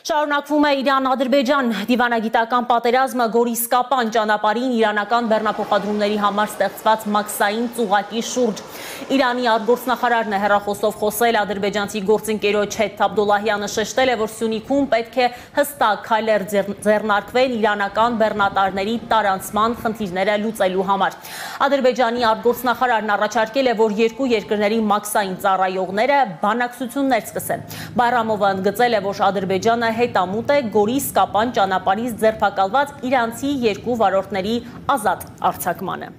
Շարունակվում է Իրան-Ադրբեջան դիվանագիտական պատերազմը Գորիսկապան ճանապարհին իրանական բեռնափոխադրումների համար ստեղծված մաքսային ծուղակի շուրջ։ Իրանի արտգործնախարարն է հեռախոսով խոսել, ադրբեջանցի գործընկերոջ հետ Աբդոլլահյանը շեշտել է, որ Սյունիքում պետք է հստակ քայլեր ձեռնարկվեն իրանական բեռնատարների տարանցման խնդիրները լուծելու համար։ Ադրբեջանի արտգործնախարարն առաջարկել է, որ երկու երկրների մաքսային ծառայողները բանակցություններ սկսեն։ Բայրամովը ընդգծել է, որ Ադրբեջանը հետամուտ է Գորիսկապան ճանապարհից ձերբակալված իրանցի երկու վարորդների ազատ արձակմանը։